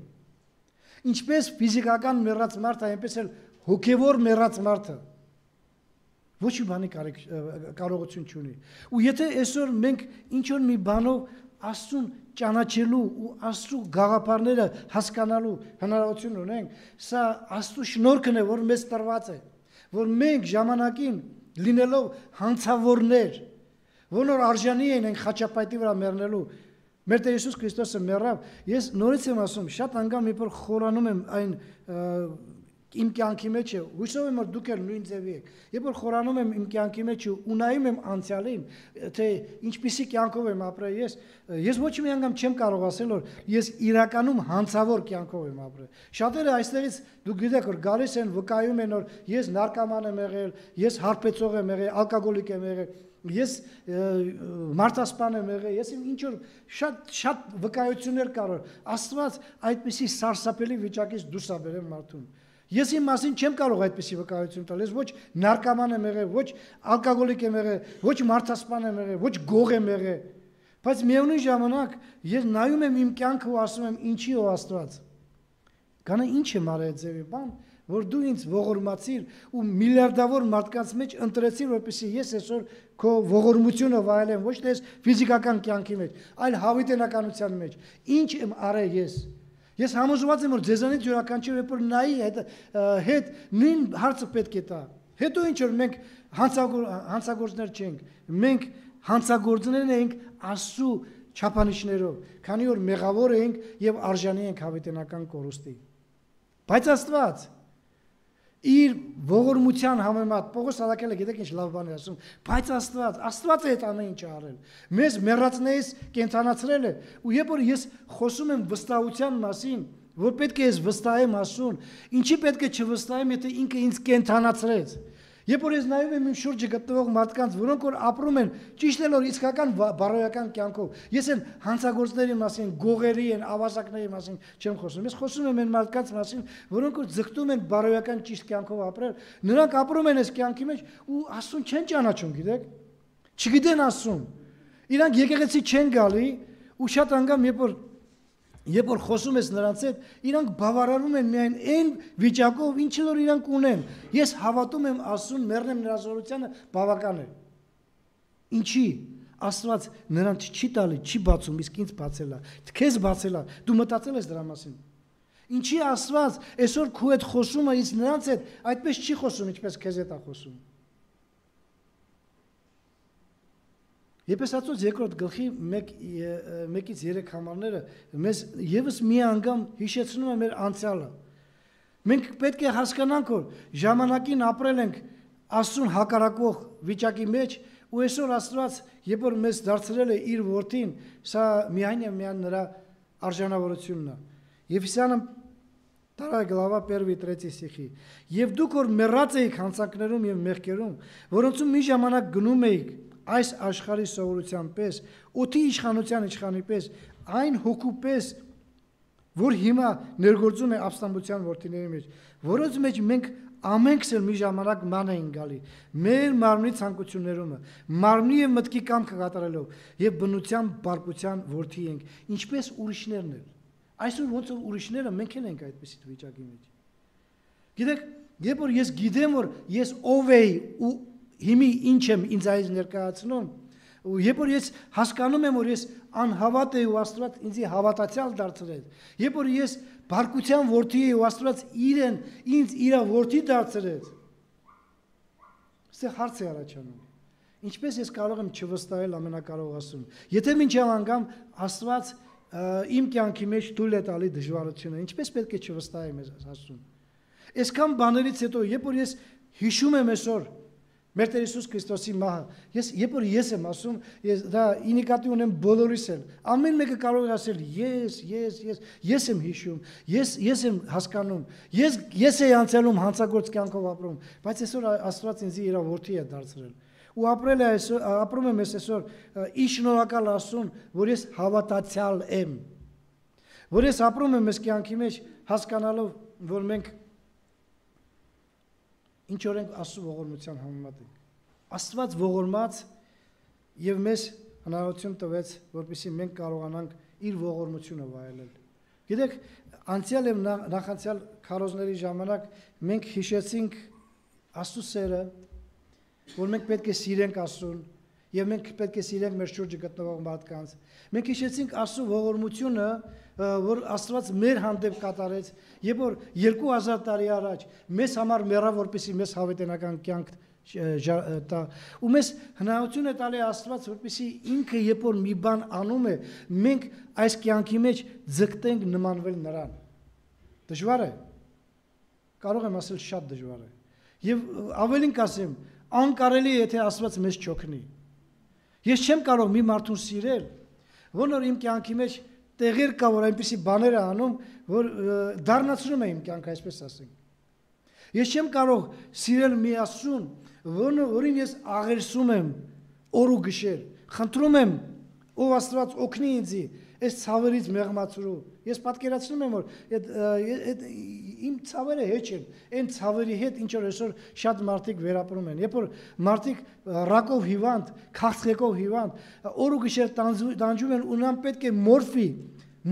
Ինչպես ֆիզիկական մեռած մարդը, այնպես էլ հոգևոր մեռած մարդը ոչ մի բանի կարողություն չունի։ Ու եթե այսօր մենք ինչ-որ մի բանով Աստծուն ճանաչելու ու Աստծու գաղափարները հասկանալու հնարավորություն ունենք, սա Աստծու շնորհքն է, որ մեզ տրված է, որ մենք ժամանակին լինելով հանցավորներ, որոնց արժանի են այն խաչապայտի վրա մեռնելու, մեր Տեր Հիսուս Քրիստոսը մեռավ, ես նորից եմ ասում, շատ անգամ երբ որ խորանում եմ այն իմ կյանքի մեջ է, հույսով եմ որ դուք էլ նույն ձևի եք։ Երբ որ խորանում եմ իմ կյանքի մեջ ու նայում եմ անցյալին, թե ինչպիսի կյանքով եմ ապրել ես, ես ոչ մի անգամ չեմ կարող ասել որ ես իրականում հանցավոր կյանքով եմ ապրել։ Շատերը այստեղից դուք գիտեք որ գալիս են վկայում են որ ես նարկոման եմ եղել, ես հարբեցող եմ եղել, ալկոհոլիկ եմ եղել, ես մարդասպան եմ եղել, ես ինչ որ շատ շատ վկայություններ կար որ Աստված այդպիսի սարսափելի վիճակից դուրս ա բերել մարդուն։ Ես իմ մասին չեմ կարող այդպիսի վկայություն տալ, ես ոչ նարկոման եմ եղել, ոչ ալկոհոլիկ եմ եղել, ոչ մարդասպան եմ եղել, ոչ գող եմ եղել, բայց միևնույն ժամանակ ես նայում եմ իմ կյանքը ու ասում եմ ինչի ո Աստված։ Գանա ինչ եմ արել այդ ձևի բան, որ դու ինձ ողորմացիր ու միլիարդավոր մարդկանց մեջ ընտրեցիր, որպեսզի ես այսօր քո ողորմությունը վայելեմ, ոչ թե ֆիզիկական կյանքի մեջ, այլ հավիտենականության մեջ։ Ինչ եմ արել ես։ Ես համոզված եմ որ ձեզանից յուրաքանչյուրը երբ որ նայի հետ հետ նույն հարցը պետք է տա։ Հետո ինչ որ մենք հանցագործներ չենք, մենք հանցագործներ ենք Աստծո չափանիշներով, քանի որ մեղավոր ենք եւ արժանի ենք հավիտենական կորուստի։ Բայց Աստված իր ողորմության համեմատ Պողոս Սարակելը գիտեք ինչ լավ բան է ասում, բայց Աստված, Աստված է այդ ամեն ինչը արել։ Մեզ մեռածներից կենթանացրել է, ու երբ որ ես խոսում եմ վստահության մասին, որ պետք է ես վստահեմ Աստծուն, ինչի պետք է չվստահեմ, եթե ինքը ինձ կենթանացրեց։ Երբ որ ես նայում եմ իմ շուրջը գտնվող մարդկանց, որոնք որ ապրում են ճիշտ էլ որ իսկական բարոյական կյանքով, ես են հանցագործների մասին, գողերի են, ավազակների մասին չեմ խոսում, ես խոսում եմ այն մարդկանց մասին, որոնք որ ձգտում են բարոյական ճիշտ կյանքով ապրել, նրանք ապրում են այս կյանքի մեջ ու Աստծուն չեն ճանաչում, գիտեք, չգիտեն Աստծուն, իրանք եկեղեցի չեն գալի ու շատ անգամ երբ որ Երբ որ խոսում ես նրանց հետ, իրանք բավարարում են միայն այն վիճակով, ինչ որ իրանք ունեն։ Ես հավատում եմ Աստծուն, մեռնեմ նրա զորությանը, բավական է։ Ինչի? Աստված նրանց չի տալի, չի բացում, իսկ ինձ բացել է։ Քեզ բացել է։ Դու մտածել ես դրա մասին։ Ինչի Աստված այսօր քո հետ խոսում է, իսկ նրանց հետ այդպես չի խոսում, ինչպես քեզ հետ է խոսում։ Եփեսացոց երկրորդ գլխի մեկից երեք համարները մեզ եւս մի անգամ հիշեցնում է մեր անցյալը։ Մենք պետք է հասկանանք, որ ժամանակին ապրել ենք Աստծուն հակառակող վիճակի մեջ, ու այսօր Աստված, երբ որ մեզ դարձրել է իր որդին, սա միայն եւ միայն նրա արժանավորությունն է։ Եփեսյանը տարա գլավա первый третий стихի։ Եվ դուք որ մեռած էիք հանցանքներում եւ մեղքերում, որոնցում մի ժամանակ գնում էիք այս աշխարհի սովորության պես, օդի իշխանության իշխանի պես, այն հոգու պես, որ հիմա ներգործում է ապստամբության որդիների մեջ, որոնց մեջ մենք ամենքս էլ մի ժամանակ ման էին գալի, մեր մարմնի ցանկություններումը, մարմնի եւ մտքի կամքը կատարելով եւ բնության բարկության որդի ենք, ինչպես ուրիշներն են։ Այսօր ոնց որ ուրիշները մենք էլ ենք այդպիսի վիճակի մեջ։ Գիտեք, երբ որ ես գիտեմ որ ես ով էի ու հիմի ինչ եմ ինձ այս ներկայացնում, ու երբ որ ես հասկանում եմ որ ես անհավատ եմ ու Աստված ինձ հավատացյալ դարձրել, երբ որ ես բարկության որդի եմ ու Աստված իրեն ինձ իր որդի դարձրեց, այստեղ հարց է առաջանում, ինչպես ես կարող եմ չվստահել ամենակարող Աստծուն, եթե մինչև անգամ Աստված իմ կյանքի մեջ թույլ է տալի դժվարությունը, ինչպես պետք է չվստահեմ Աստծուն։ Այսքան բաներից հետո, երբ որ ես հիշում եմ այսօր մեր Տեր Հիսուս Քրիստոսի մահը, ես երբ որ ես եմ ասում, ես դա ինիկատի ունեմ բոլորիս էլ, ամեն մեկը կարող է ասել ես, ես, ես, ես եմ հիշում, ես, ես եմ հասկանում, ես, ես եմ անցյալում հանցագործ կյանքով ապրում, բայց այսօր Աստված ինձ իր որդի է դարձրել։ Ու ապրել է այսօր, ապրում եմ այսօր ի շնորհակալ Աստծուն, որ ես հավատացյալ եմ, որ ես ապրում եմ այս կյանքի մեջ հասկանալով, որ մենք ինչ որ ենք Աստծո ողորմության համեմատ ենք։ Աստված ողորմած եւ մեզ հնարավորություն տվեց, որպեսզի մենք կարողանանք իր ողորմությունը վայելել։ Գիտեք, անցյալ եւ նախանցյալ քարոզների ժամանակ մենք հիշեցինք Աստծո սերը, որ մենք պետք է սիրենք Աստծուն եւ մենք պետք է սիրենք մեր շուրջը գտնվող մարդկանց։ Մենք հիշեցինք Աստծո ողորմությունը, որ Աստված մեր հանդեպ կատարեց, երբ որ երկու հազար տարի առաջ մեզ համար մեռավ, որպեսզի մեզ հավիտենական կյանք տա, ու մեզ հնարավորություն է տալի Աստված, որպեսզի ինքը երբ որ մի բան անում է, մենք այս կյանքի մեջ ձգտենք նմանվել նրան։ Դժվար է։ կարող եմ ասել շատ դժվար է։ Եվ ավելին կասեմ, անկարելի է, եթե Աստված մեզ չօգնի։ Ես չեմ կարող մի մարդուն սիրել, որ իմ կյանքի մեջ տեղեր կա, որ այնպիսի բաներ է անում, որ դառնացնում է իմ կյանքը, այսպես ասենք։ Ես չեմ կարող սիրել մի Աստծուն, որին ես աղերսում եմ օր ու գիշեր, խնդրում եմ, ով Աստված օգնի ինձ այս ցավերից մեղմացրու։ Ես պատկերացնում եմ, որ իմ ցավերը հեչ են, այն ցավերի հետ, ինչ որ այսօր շատ մարդիկ վերապրում են։ Երբ որ մարդիկ ռակով հիվանդ, քաղցկեղով հիվանդ, օր ու գիշեր տանջում են, ու նրան պետք է մորֆի,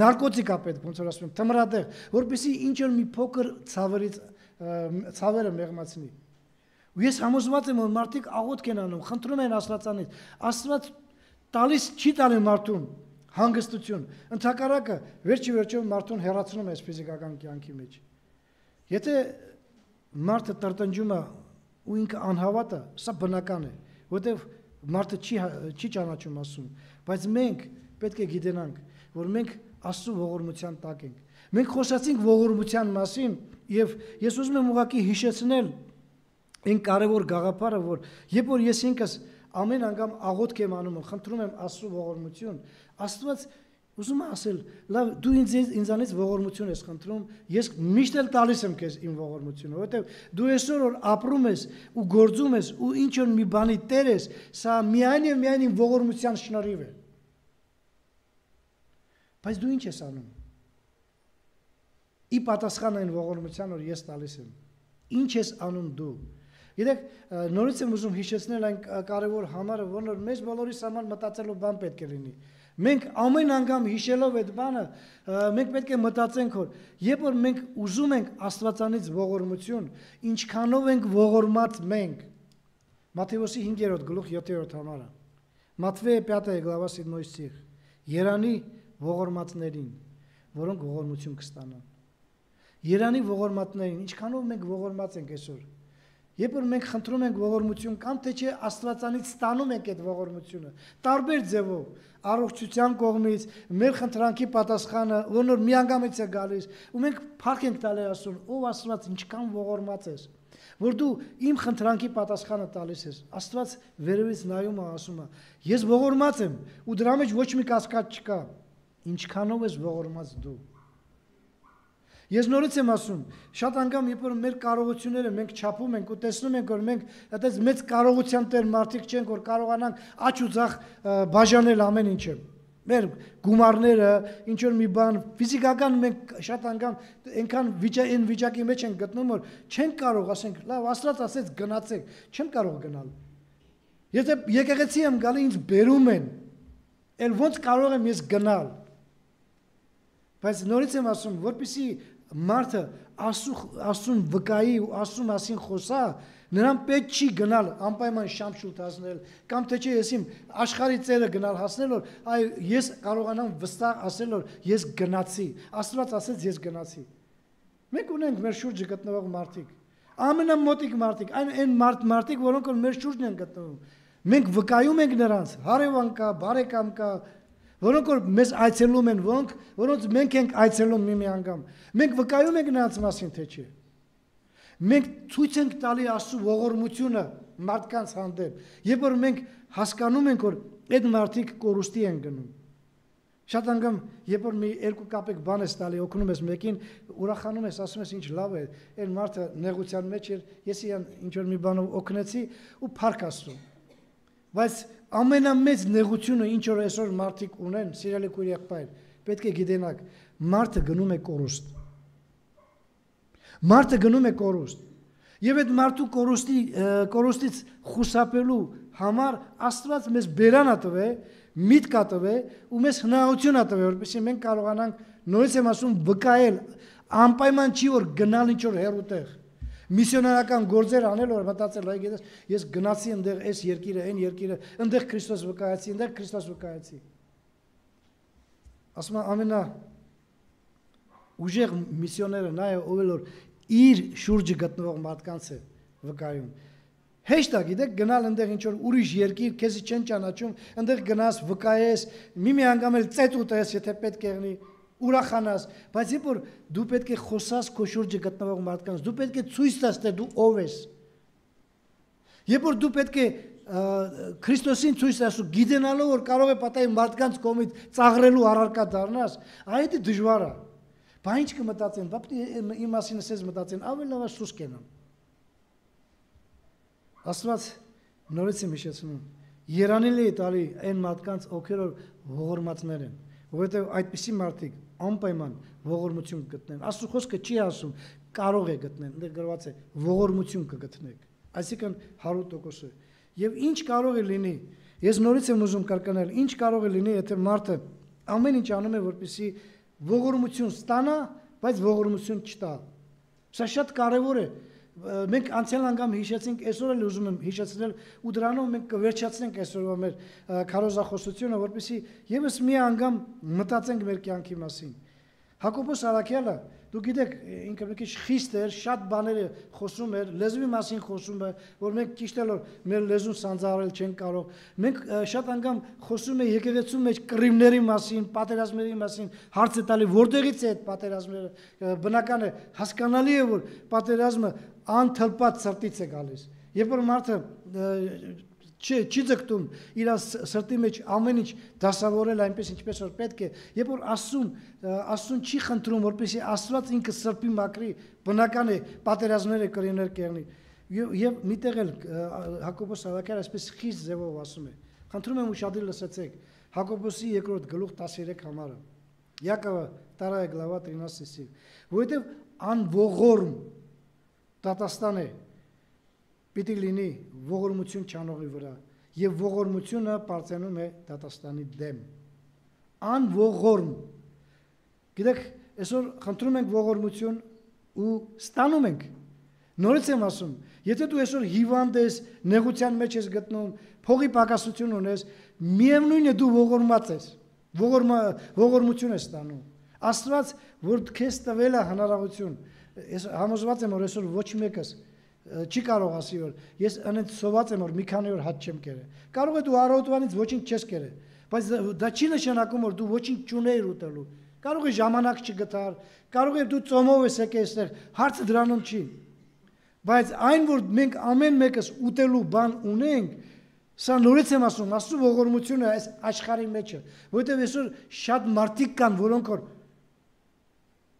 նարկոտիկ է պետք, ոնց որ ասում եմ, թմրադեղ, որպեսզի ինչ որ մի փոքր ցավերից ցավերը մեղմացնի։ Ու ես համոզված եմ, որ մարդիկ աղոթք են անում, խնդրում են Աստվածանից։ Աստված տալիս չի տալի մարդուն հանգստություն։ Ընդհակառակը վերջի վերջով մարդուն հեռացնում է այս ֆիզիկական կյանքի մեջ։ Եթե մարդը տրտնջում է ու ինքը անհավատ է, սա բնական է, որտեղ մարդը չի չի ճանաչում Աստծուն, բայց մենք պետք է գիտենանք, որ մենք Աստծո ողորմության տակ ենք։ Մենք խոսացինք ողորմության մասին, եւ ես ուզում եմ ուղղակի հիշեցնել այն կարևոր գաղափարը, որ երբ որ ես ինքս ամեն անգամ աղոթք եմ անում, խնդրում եմ Աստծո ողորմություն, Աստված ուզում է ասել, լավ, դու ինձ ինձանից ողորմություն ես խնդրում, ես միշտ էլ տալիս եմ քեզ իմ ողորմությունը, որովհետև դու այսօր որ ապրում ես ու գործում ես ու ինչ որ մի բանի տեր ես, սա միայն եւ միայն իմ ողորմության շնորհիվ է։ Բայց դու ինչ ես անում։ Ի պատասխան այն ողորմության, որ ես տալիս եմ, ինչ ես անում դու։ Գիտեք, նորից եմ ուզում հիշեցնել այն կարևոր համարը, որ մեզ բոլորիս համար մտածելու բան պետք է լինի։ Մենք ամեն անգամ հիշելով այդ բանը, մենք պետք է մտածենք, որ երբ որ մենք ուզում ենք Աստվածանից ողորմություն, ինչքանով ենք ողորմած մենք։ Մատթեոսի հինգերորդ գլուխ յոթերորդ համարը։ Մատվեյ пятая глава седьмой стих։ Երանի ողորմածներին, որոնք ողորմություն կստանան։ Երանի ողորմածներին, ինչքանով մենք ողորմած ենք այսօր։ Երբ որ մենք խնդրում ենք ողորմություն կամ թե չէ Աստվածանից ստանում ենք այդ ողորմությունը, տարբեր ձևով, առողջության կողմից, մեր խնդրանքի պատասխանը, որ միանգամից է գալիս, ու մենք փառք ենք տալի Աստծուն, ով Աստված ինչքան ողորմած ես, որ դու իմ խնդրանքի պատասխանը տալիս ես։ Աստված վերևից նայում է, ասում է. ես ողորմած եմ, ու դրա մեջ ոչ մի կասկած չկա։ Ինչքանով ես ողորմած դու։ Ես նորից եմ ասում, շատ անգամ երբ որ մեր կարողությունները մենք չափում ենք ու տեսնում ենք, որ մենք այդպես մեծ կարողության տեր մարդիկ չենք, որ կարողանանք աճ ու ձախ բաժանել ամեն ինչը։ Մեր գումարները, ինչ որ մի բան, ֆիզիկական մենք շատ անգամ այնքան վիճակի վիճակի մեջ ենք գտնում, որ չենք կարող, ասենք, լավ, Աստված ասեց գնացեք, չեմ կարող գնալ։ Եթե եկեղեցի եմ գալի, ինձ բերում են, էլ ոնց կարող եմ ես գնալ։ Բայց նորից եմ ասում, որպեսզի մարդը Աստծուն վկայի ու Աստծու մասին խոսա, նրան պետք չի գնալ անպայման շամշուտ հասնել, կամ թե չէ ես իմ աշխարհի ծերը գնալ հասնել, որ այ ես կարողանամ վստահ ասել, որ ես գնացի, Աստված ասեց ես գնացի։ Մենք ունենք մեր շուրջը գտնվող մարդիկ, ամենամոտիկ մարդիկ, այն այն մարդ մարդիկ, որոնք որ մեր շուրջն են գտնվում։ Մենք վկայում ենք նրանց, հարևան կա, բարեկամ կա, որոնք որ մեզ այցելում են, որոնք որոնց մենք ենք այցելում մի-մի անգամ։ Մենք վկայում ենք նրանց մասին, թե չէ։ Մենք ցույց ենք տալի Աստծո ողորմությունը մարդկանց հանդեպ, երբ որ մենք հասկանում ենք, որ այդ մարդիկ կորուստի են գնում։ Շատ անգամ, երբ որ մի երկու կապեք բան ես տալի, օգնում ես մեկին, ուրախանում ես, ասում ես ինչ լավ է, այն մարդը նեղության մեջ էր, ես իրան ինչ որ մի բանով օգնեցի ու փառք Աստծո։ Բայց ամենամեծ նեղությունը, ինչ որ այսօր մարդիկ ունեն, սիրելի քույր եղբայր, պետք է գիտենաք, մարդը գնում է կորուստ։ Մարդը գնում է կորուստ։ Եվ այդ մարդու կորուստի կորուստից խուսափելու համար Աստված մեզ բերան ա տվել, միտք ա տվել ու մեզ հնարավորություն ա տվել, որպեսզի մենք կարողանանք, նորից եմ ասում, վկայել, անպայման չի որ գնալ ինչ որ հեռուտեղ։ Միսիոնարական գործեր անել, որ մտածել, այ գիտես, ես գնացի այնտեղ այս երկիրը, այն երկիրը, այնտեղ Քրիստոս վկայացի, այնտեղ Քրիստոս վկայացի։ Ասում եմ ամենա ուժեղ միսիոները նա է, ով որ իր շուրջը գտնվող մարդկանց է վկայում։ Հեշտ է, գիտեք, գնալ այնտեղ ինչ որ ուրիշ երկիր, քեզի չեն ճանաչում, այնտեղ գնաս, վկայես, մի-մի անգամ էլ ծետ ուտես, եթե պետք եղնի, ուրախանաս, բայց երբ որ դու պետք է խոսաս քո շուրջը գտնվող մարդկանց, դու պետք է ցույց տաս, թե դու ով ես։ Երբ որ դու պետք է Քրիստոսին ցույց տաս ու գիտենալով որ կարող է պատահի մարդկանց կողմից ծաղրելու առարկա դառնաս, այդ է դժվար է։ Բայց ինչ կմտածեն, բա իմ մասին ասես մտածեն, ավելի լավ է սուս կենան։ Աստված նորից եմ հիշեցնում, երանելի է տալի այն մարդկանց, ովքեր ողորմածներ են, որովհետև այդպիսի մարդիկ անպայման ողորմություն կգտնեն։ Աստծո խոսքը չի ասում կարող է գտնեն, այնտեղ գրված է ողորմություն կգտնեք։ Այսինքն հարյուր տոկոս է։ Եվ ինչ կարող է լինի, ես նորից եմ ուզում կրկնել, ինչ կարող է լինի, եթե մարդը ամեն ինչ անում է, որպեսզի ողորմություն ստանա, բայց ողորմություն չտա։ Սա շատ կարևոր է։ Մենք անցյալ անգամ հիշեցինք, այսօր էլ ուզում եմ հիշեցնել ու դրանով մենք կվերջացնենք այսօրվա մեր քարոզախոսությունը, որպեսզի եւս մի անգամ մտածենք մեր կյանքի մասին։ Հակոբոս Արաքյալը, դու գիտեք, ինքը մի քիչ խիստ էր, շատ բաներ խոսում էր, լեզվի մասին խոսում է, որ մենք ճիշտ էլ մեր լեզուն սանձահարել չենք կարող։ Մենք շատ անգամ խոսում ենք եկեղեցու մեջ կռիվների մասին, պատերազմների մասին, հարց է տալի, որտեղից է այդ պատերազմները։ Բնական է, հասկանալի է, որ պատերազմը անթլպած սրտից է գալիս։ Երբ որ մարդը չի չի ձգտում իր սրտի մեջ ամեն ինչ դասավորել այնպես ինչպես որ պետք է, երբ որ Աստծուն Աստծուն չի խնդրում, որպեսզի Աստված ինքը սրբի մաքրի, բնական է պատերազմները կրիներ կերնի։ Եվ միտեղ էլ Հակոբոս Արաքյալը այսպես խիստ ձևով ասում է։ Խնդրում եմ ուշադիր լսեցեք Հակոբոսի երկրորդ գլուխ տասներեք համարը։ Յակովը вторая глава тринадцатый стих։ Որովհետև անողորմ դատաստան է պիտի լինի ողորմություն չանողի վրա, եւ ողորմությունը բարձրանում է դատաստանի դեմ։ Անողորմ։ Գիտեք, այսօր խնդրում ենք ողորմություն ու ստանում ենք։ Նորից եմ ասում, եթե դու այսօր հիվանդ ես, նեղության մեջ ես գտնում, փողի պակասություն ունես, միևնույն է դու ողորմած ես, ողորմություն ես ստանում։ Աստված, որ քեզ տվել է հնարավորություն, ես համոզված եմ, որ այսօր ոչ մեկս չի կարող ասի, որ ես անենց սոված եմ, որ մի քանի օր հաց չեմ կերել։ Կարող է դու առավոտվանից ոչինչ չես կերել, բայց դա չի նշանակում, որ դու ոչինչ չունեիր ուտելու։ Կարող է ժամանակ չգտար, կարող է դու ծոմով ես եկել այստեղ, հարցը դրանում չի։ Բայց այն, որ մենք ամեն մեկս ուտելու բան ունենք, սա նորից եմ ասում, Աստծո ողորմությունը այս աշխարհի մեջ է, որովհետև այսօր շատ մարդիկ կան, որոնք որ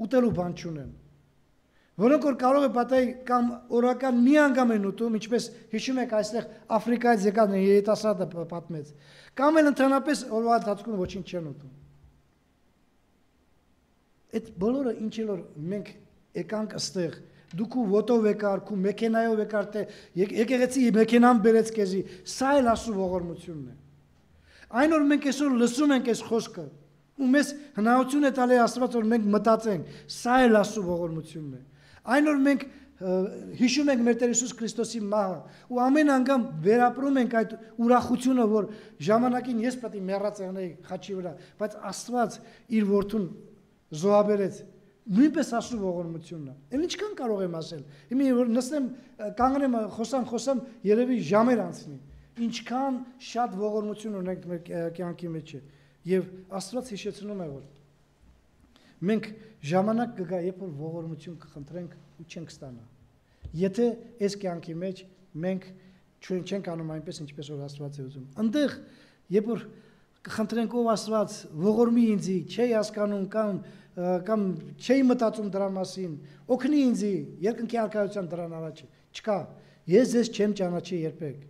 ուտելու բան չունեն։ Որոնք որ կարող է պատահի կամ օրական մի անգամ են ուտում, ինչպես հիշում եք այստեղ Աֆրիկայից եկած երիտասարդը պատմեց, կամ էլ ընդհանրապես օրվա ընթացքում ոչինչ չեն ուտում։ Այդ բոլորը ինչ էլ որ մենք եկանք այստեղ, դու քու ոտով եկար, քու մեքենայով եկար, թե եկեղեցի մեքենան բերեց քեզի, սա էլ Աստծո ողորմությունն է։ Այն որ մենք այսօր լսում ենք այս խոսքը, ու մեզ հնարավորություն է տալի Աստված, որ մենք մտածենք, սա էլ Աստծո ողորմությունն է։ Այն որ մենք հիշում ենք մեր Տեր Հիսուս Քրիստոսի մահը ու ամեն անգամ վերապրում ենք այդ ուրախությունը, որ ժամանակին ես պետք է մեռած եղնեի խաչի վրա, բայց Աստված իր որդուն զոհաբերեց, նույնպես Աստծո ողորմությունն է։ Էլ ինչքան կարող եմ ասել։ Հիմա որ նստեմ, կանգնեմ, խոսամ, խոսամ, երևի ժամեր անցնի։ Ինչքան շատ ողորմություն ունենք մեր կյանքի մեջ է։ Եվ Աստված հիշեցնում է, որ մենք ժամանակ կգա, երբ որ ողորմություն կխնդրենք ու չենք ստանա։ Եթե այս կյանքի մեջ մենք չենք անում այնպես, ինչպես որ Աստված է ուզում։ Այնտեղ, երբ որ կխնդրենք ով Աստված, ողորմի ինձի, չի հասկանում կամ կամ չի մտածում դրա մասին, օգնի ինձի, երկնքի արքայության դրան առաջ չկա։ Ես ձեզ չեմ ճանաչի երբեք։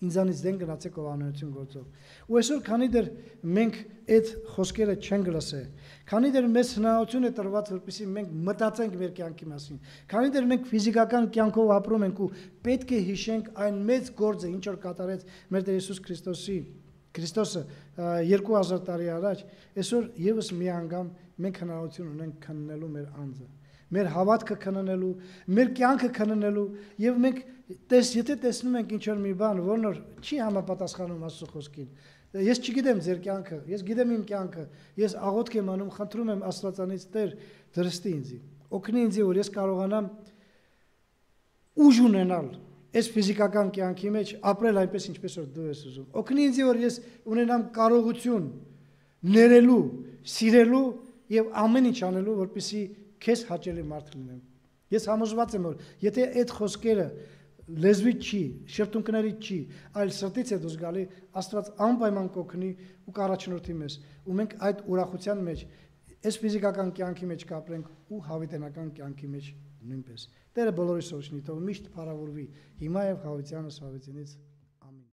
Ինձանից դեն գնացեք ով անօրություն գործով։ Ու այսօր քանի դեռ մենք այդ խոսքերը չենք լսել, քանի դեռ մեզ հնարավորություն է տրված, որպեսզի մենք մտածենք մեր կյանքի մասին, քանի դեռ մենք ֆիզիկական կյանքով ապրում ենք ու պետք է հիշենք այն մեծ գործը, ինչ որ կատարեց մեր Տեր Հիսուս Քրիստոսի Քրիստոսը երկու հազար տարի առաջ, այսօր եւս մի անգամ մենք հնարավորություն ունենք քննելու մեր անձը, մեր հավատքը քննելու, մեր կյանքը քննելու եւ մենք տես եթե տեսնում ենք ինչ որ մի բան, որն որ չի համապատասխանում Աստծո խոսքին։ Ես չգիտեմ ձեր կյանքը, ես գիտեմ իմ կյանքը, ես աղոթք եմ անում, խնդրում եմ Աստվածանից Տեր դրստի ինձ, օգնի ինձ, որ ես կարողանամ ուժ ունենալ այս ֆիզիկական կյանքի մեջ ապրել այնպես ինչպես որ դու ես ուզում։ Օգնի ինձ, որ ես ունենամ կարողություն ներելու, սիրելու եւ ամեն ինչ անելու, որպեսզի քեզ հաճելի մարդ լինեմ։ Ես համոզված եմ, որ եթե այդ խոսքերը լեզվի չի, շրթունքների չի, այլ սրտից է դուրս գալի, Աստված անպայման կօգնի ու կառաջնորդի մեզ։ Ու մենք այդ ուրախության մեջ, այս ֆիզիկական կյանքի մեջ կապրենք ու հավիտենական կյանքի մեջ նույնպես։ Տերը բոլորիս օրհնի, թող միշտ փառավորվի, հիմա եւ հավիտյանս հավիտենից